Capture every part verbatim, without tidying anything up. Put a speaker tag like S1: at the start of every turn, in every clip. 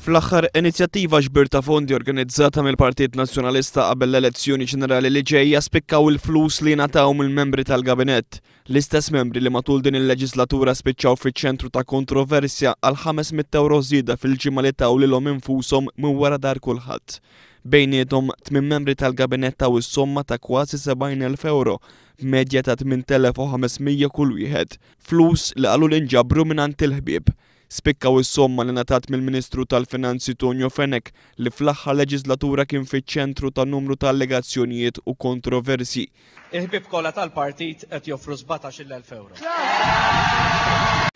S1: Fl-aħħar inizjattiva ġbir ta' fondi organizzata mill-Partit Nazzjonalista qabel l-elezzjoni ġenerali li ġejja spikkaw il-flus li ngħataw mill-membri tal-Gabinett. L-istess membri li matul din il-leġislatura spiċċaw fiċ-ċentru ta' kontroversja għal ħames mitt ewro żieda fil-ġimgħa li taw lilhom infushom minn wara dar kulħadd. Bejniethom tmien membri tal-Gabinett taw is-somma ta' kważi sebgħin elf ewro, b'medja ta' tmien telef u ħames mija kull wieħed. Flus li qalu li nġabru mingħand il-ħbieb. Spikkaw is-somma li ngħatat mill-Ministru tal-Finanzi Tonio Fenech li fl-aħħar leġislatura kien fiċ-ċentru ta' numru ta' allegazzjonijiet u kontroversji.
S2: Il-ħbieb kollha tal-partit qed joffru sbatax-il elf ewro.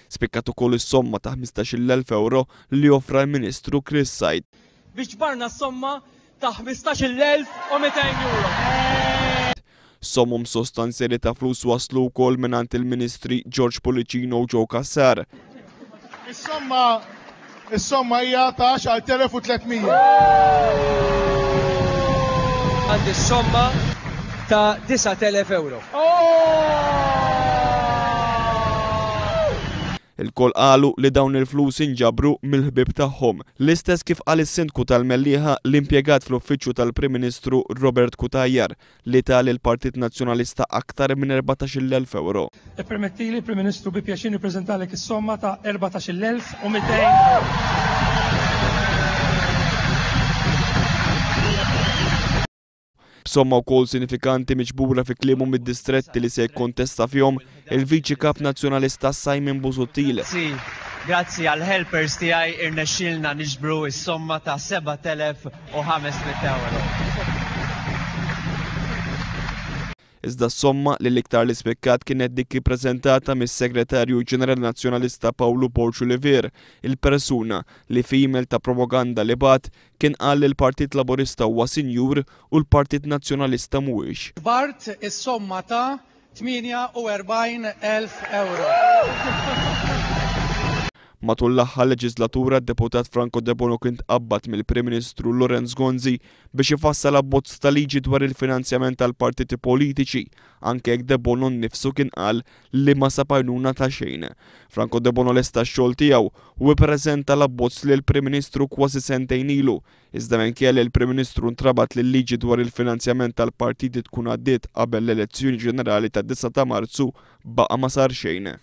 S1: Spikkat ukoll is-somma ta' ħmistax-il elf ewro li offra l-Ministru Chris Said.
S2: Biex ġbarna s-somma ta' ħmistax-il elf u mitejn euro.
S1: Sommum sostanzjali ta' flus waslu wkoll mingħand il-Ministri George Pullicino u Joe Cassar.
S3: Is-somma, is-somma hija ta' għaxar telef u tliet mija.
S2: Għandi s-somma ta' disa' telef euro.
S1: Il-kol qalu li dawn il-flus inġabru mill-ħbieb tagħhom. L-istess kif qal is-sindku tal-Mellieħa l-impjegat fl-uffiċċju tal-Prim Ministru Robert Cutajar li ta lill-Partit Nazzjonalista aktar minn erbatax-il elf euro.
S4: Ippermettili, Prim Ministru, bi pjaċir nippreżentalek is-somma ta' erbatax-il elf u mitejn euro.
S1: B'somma wkoll sinifikanti miġbura fi kliemu mid-distretti li se jikkontesta fihom il-Viċi Kap Nazzjonalista Simon Busuttil.
S5: Grazzi, grazzi għal helpers tiegħi irnexxielna niġbru s-somma ta' seba' telef u ħames mitt euro.
S1: Iżda s-somma li l-iktar li spikkat kienet dik ippreżentata mis-Segretarju Ġenerali Nazzjonalista Pawlu Borg Olivier, il-persuna li f'email ta' propaganda li bat kien qal li l-Partit Laburista huwa sinjur u l-Partit Nazzjonalista mhuwiex.
S4: Bart is-somma ta' tmienja u erbgħin elf euro.
S1: Matul l-aħħar leġislatura d-deputat Franco Debono kien tqabbad mill-Prim Ministru Lawrence Gonzi biex ifassal abbozz ta' liġi dwar il-finanzjament tal-partiti politiċi, anke jekk Debono nnifsu kien qal li ma sab għajnuna ta' xejn. Franco Debono lesta x-xogħol tiegħu u ippreżenta l-abbozz lil Prim Ministru kważi sentejn ilu, iżda minkejja li l-Prim Ministru ntrabat li l-liġi dwar il-finanzjament tal-partiti tkun għaddiet qabel l-elezzjoni ġenerali tad-disa ta' Marzu baqa' ma sar xejn.